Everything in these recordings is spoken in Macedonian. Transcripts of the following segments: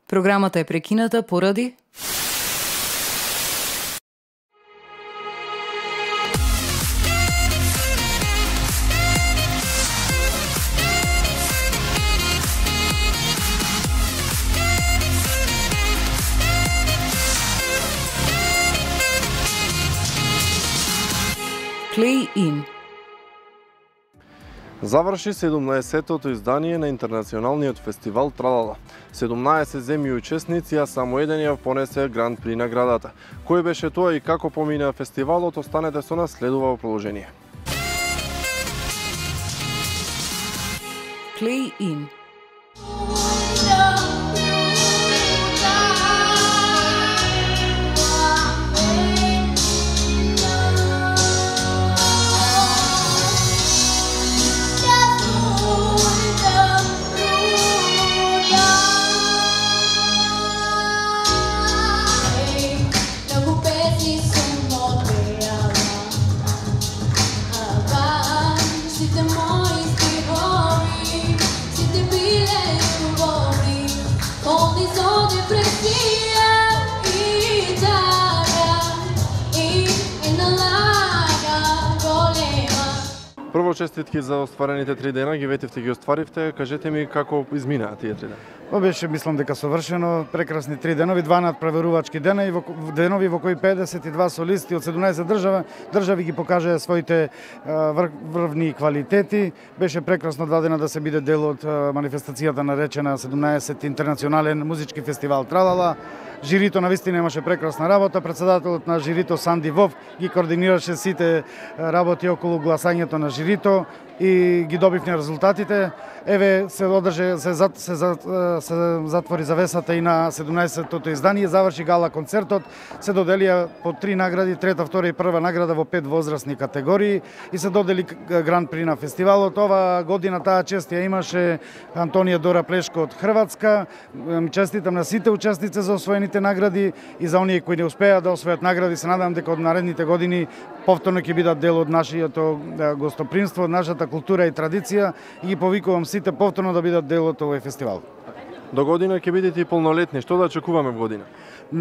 Програмата е прекината поради Play In. Заврши 17-тото издание на интернационалниот фестивал Тралала. 17 земји учесници, а само еден ја понесе Гран При наградата. Кој беше тоа и како помина фестивалот, останете со нас, следува во продолжение. Play In. Прво честитки за остварените 3 дена, ги ветивте, ги остваривте. Кажете ми како изминаа тие 3 дена. Беше, мислам дека совршено, прекрасни 3 денови, 2 надправерувачки дена и денови во кои 52 солисти од 17 држави ги покажаа своите врвни квалитети. Беше прекрасно 2 дена да се биде дел од манифестацијата наречена 17 интернационален музички фестивал Тралала. Жирито навистина имаше прекрасна работа, председателот на жирито Санди Вов ги координираше сите работи околу гласањето на жирито и ги добивме резултатите. Еве се одржа, се затвори завесата и на 17-тото издание, заврши гала концертот, се доделија по 3 награди, трета, втора и прва награда во 5 возрастни категории и се додели Гран При на фестивалот. Ова година таа чест ја имаше Антонија Дора Плешко од Хрватска. Честитам на сите учесници за освоените награди и за оние кои не успеа да освојат награди. Се надам дека од наредните години повторно ќе бидат дел од нашиото гостопримство, од нашата култура и традиција и ги повикувам сите повторно да бидат дел од овој фестивал. До година ќе бидете и полнолетни. Што да очекуваме во година?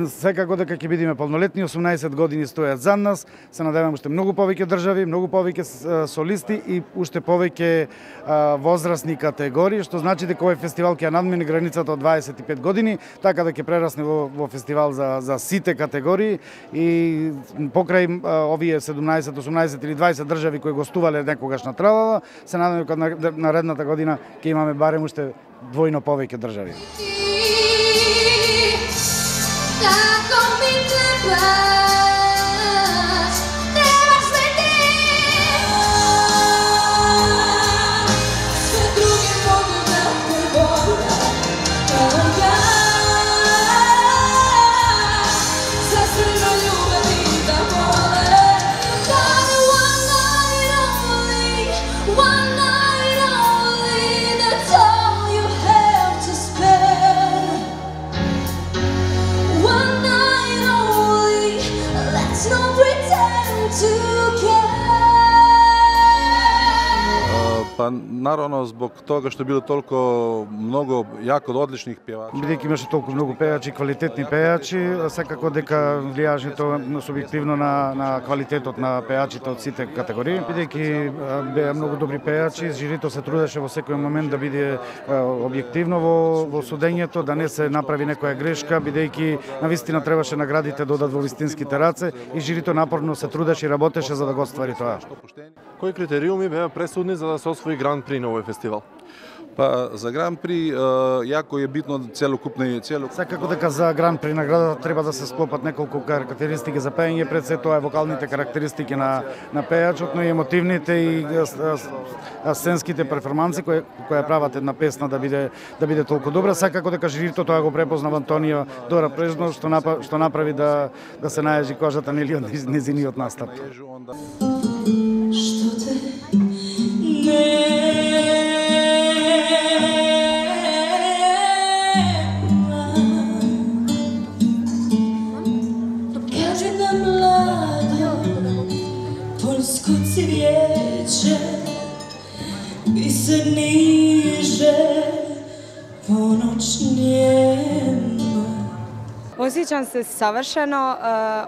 Секако дека ќе бидеме полнолетни, 18 години стојат за нас. Се надевам уште многу повеќе држави, многу повеќе солисти и уште повеќе возрастни категории, што значи дека овој фестивал ќе надмине границата од 25 години, така да ќе прерасне во фестивал за сите категории и покрај овие 17, 18 или 20 држави кои гостувале некогаш на Тралала, се надевам дека наредната година ќе имаме барем уште двојно повеќе држави. Tako mi trebaš, trebaš me ti. Sve druge mogu da te vole, kao ja. Za crno ljubavi da vole. But one night only, that's all you have to spend. One night only, let's not pretend to care. Па наравно због тога што било толку многу јако одличних певачи. Бидејќи имаше толку многу пејачи, квалитетни пејачи, секако дека влијаше тоа субјективно на квалитетот на пејачите од сите категории. Бидејќи беа многу добри пејачи, жирито се трудеше во секој момент да биде објективно во судењето, да не се направи некоја грешка, бидејќи навистина требаше наградите да одат во вистинските раце и жирито напорно се трудеше и работеше за да го оствари тоа. Кои критериуми беа пресудни за да се освои Гран При на овој фестивал? Па за Гран При јако е битно целокупни. Секако дека за Гран При наградата треба да се склопат неколку карактеристики за пеење, пред се тоа е вокалните карактеристики на пејачот, но и емотивните и сценските перформанси кои прават една песна да биде толку добра. Секако дека жирито тоа го препознава Антонија Дора Плешко, што направи да се најежи кожата нели од незиниот настап. Што те не cvijeće se niže po noćnjem Osjećam se savršeno,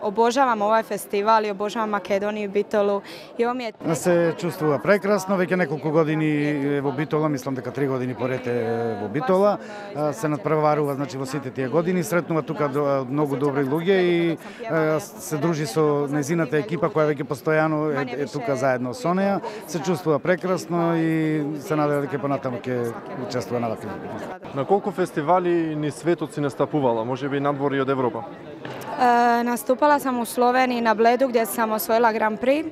obožavam ovaj festival i obožavam Makedoniju i Bitolu i ovo mi je... Се чувствува прекрасно, веќе неколку години во Битола, мислам дека 3 години поред е во Битола, се надпреварува значи во сите тие години, сретнува тука многу добри луѓе и се дружи со нејзината екипа која веќе постојано е тука заедно со неа, се чувствува прекрасно и се надева дека понатаму ќе учествува на вакви. На колку фестивали ни светот си настапувала, можеби надвор и од Европа? Nastupala sam u Sloveniji na Bledu gdje sam osvojila Grand Prix.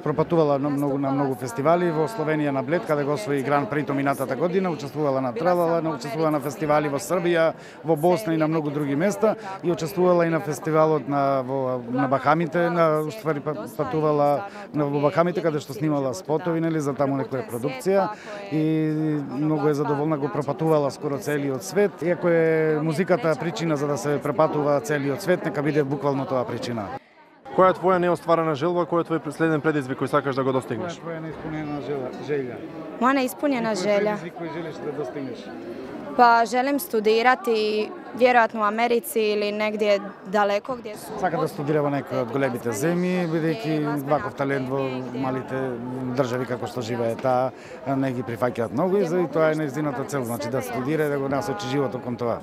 Пропатувала на многу фестивали во Словенија на Блед, каде го освои Гран Прито минатата година, учествувала на Тралала, учествувала на фестивали во Србија, во Босна и на многу други места и учествувала и на фестивалот на Бахамите, уствари патувала во Бахамите каде што снимала спотови, нели, за таму некоја продукција и многу е задоволна, го пропатувала скоро целиот свет. Иако е музиката причина за да се препатува целиот свет, нека биде буквално тоа причина. Која е твоја неостварена желба, кој е твој следен предизвик кој сакаш да го достигнеш? Која е твоја неиспунена želja? Moja neispunjena želja? Предизвик кој желиш да достигнеш? Pa želim studirati vjerojatno u Americi ili negdje daleko gdje su... Сака да студира во некој од големите земји, бидејќи ваков талент во малите држави како што живее таа не ги прифаќаат многу и тоа е нејзината цел, значи да студира и да го насочи животот кон тоа.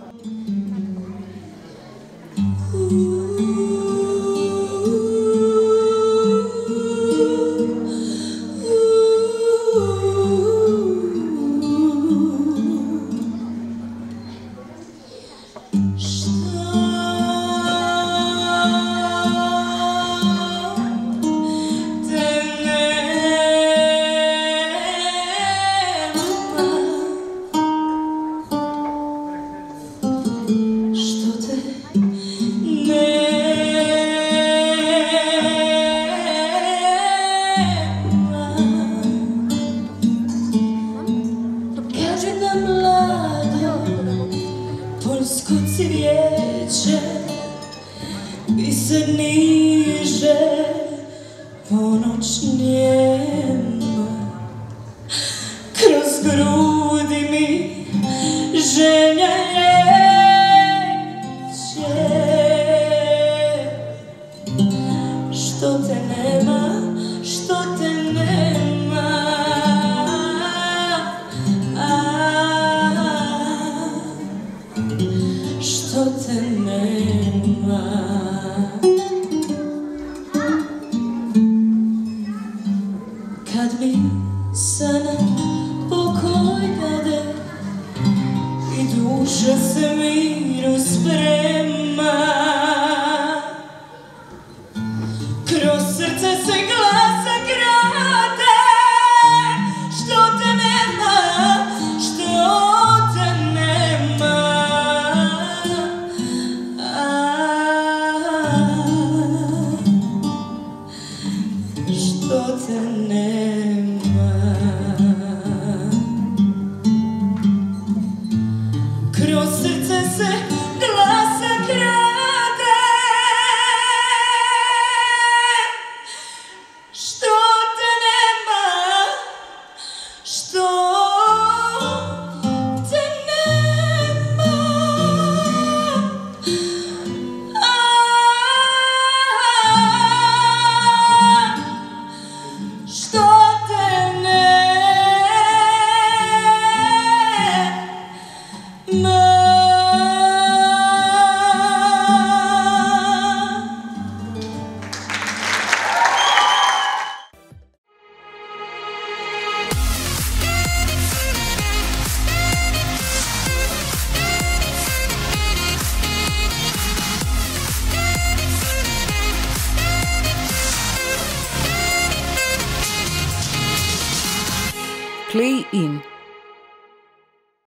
Play in.